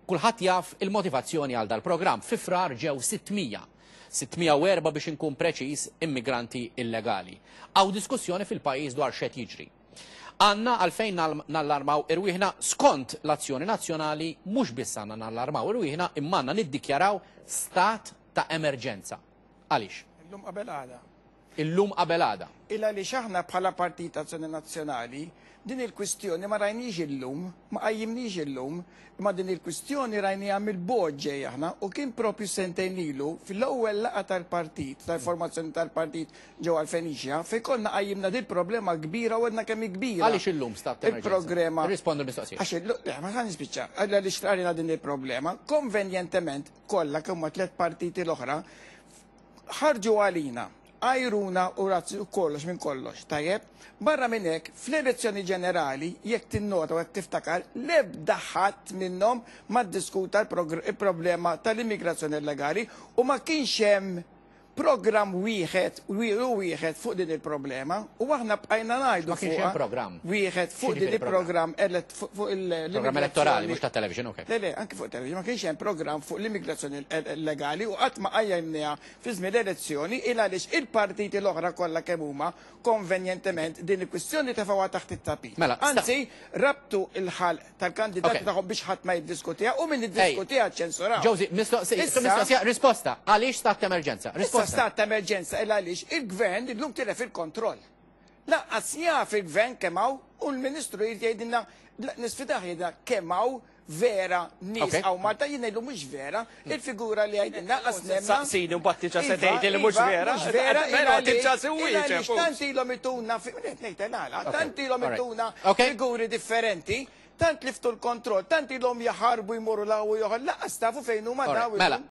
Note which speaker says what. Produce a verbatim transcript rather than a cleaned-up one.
Speaker 1: Kulħadd jaf il-motivazzjoni għal dal-programm. Fi Frar ġew sitt mija. sitt mija u erbgħa biex inkun preċiż, immigranti illegali. Hawn diskussjoni fil-pajjiż dwar x'qed jiġri. Għandna għalfejn nallarmaw irwieħna? Skont l-Azzjoni Nazzjonali, mhux biss għandna nallarmaw irwieħna, imma għandna niddikjaraw stat ta' emerġenza. Għaliex?
Speaker 2: Illum qabel għada.
Speaker 1: Illum qabel għada.
Speaker 2: Illa li aħna bħala Partit Azzjoni Nazzjonali din il-kwistjoni ma rajniex illum, ma qajjimniex illum, imma din il-kwistjoni rajniha mill-bogħod ġej aħna u kien propju sentejn ilu fil-ewwel laqgħa tal-partit, tal-formazzjoni tal-partit ġewwa l-Feniċja, fejn konna qajjimna din problema kbira u għedna kemm hi kbira.
Speaker 1: Għaliex illum stat ta' emerġenza?
Speaker 2: Il-problema.
Speaker 1: Rispondu l-mistoqsija.
Speaker 2: Għax illum, le, ma ħa nispiċċa, għalla li xtrarina din il-problema, konvenjentement kollha kemm ma tliet partiti l-oħra ħarġu għalina, għajruna u razzi u kollox minn kollox, tajjeb? Barra minn hekk, fl-elezzjoni ġenerali, jekk tinnota u jekk tiftakar, l-ebda ħadd minnhom ma ddiskuta il-problema tal-immigrazzjoni illegali u ma kienx hemm programm wieħed u wieħed fuq din il-problema u aħna bqajna ngħidu
Speaker 1: Ma kienx hemm
Speaker 2: fuqha.
Speaker 1: programm.
Speaker 2: Wieħed fuq din
Speaker 1: X'jiġifieri
Speaker 2: il-programm elett fuq il
Speaker 1: Programm elettorali, mhux ta' television, ok.
Speaker 2: Le, le, anki fuq television, ma kienx hemm programm fuq l-immigrazzjoni illegali u qatt ma qajjimniha fi żmien l-elezzjoni il għaliex il-partiti l-oħra kollha kemm huma konvenjentement din il-kwistjoni tefgħuha taħt it-tapit.
Speaker 1: Mela, sta-
Speaker 2: Anzi, rabtu il-ħalq tal-kandidati
Speaker 1: Ok.
Speaker 2: tagħhom biex ħadd ma jiddiskutiha u min iddiskutiha ċensuraw.
Speaker 1: Josie, mistoqsija,
Speaker 2: Issa-
Speaker 1: mistoqsija, risposta. Għaliex stat ta' emerġenza?
Speaker 2: Issa
Speaker 1: Risposta.
Speaker 2: stat ta' emerġenza il għaliex il-gvern illum tilef il-kontroll. Lanqas jaf il-gvern kemm hawn u l-ministru jrid jgħidilna, nisfidah jgħidilna kemm hawn vera nies
Speaker 1: Ok.
Speaker 2: hawn Malta. Jien ngħidlu mhux vera, il-figura li jgħidilna qas nemna.
Speaker 3: Saqsini u mbagħad diġà se
Speaker 2: Iva,
Speaker 3: tgħid li mhux
Speaker 2: iva,
Speaker 3: vera.
Speaker 2: Mhux vera,
Speaker 3: Però tibġa'
Speaker 2: il
Speaker 3: se
Speaker 2: għaliex
Speaker 3: wieġeb.
Speaker 2: tant ilhom ituna, fi- qed ngħid għala, tant ilhom
Speaker 1: Alright.
Speaker 2: ituna
Speaker 1: Ok.
Speaker 2: figuri differenti, tant liftu l-kontroll, tant ilhom jaħarbu jmorru law u joħol, lanqas tafu fejn huma
Speaker 1: Alright,
Speaker 2: daw
Speaker 1: mela.
Speaker 2: illum.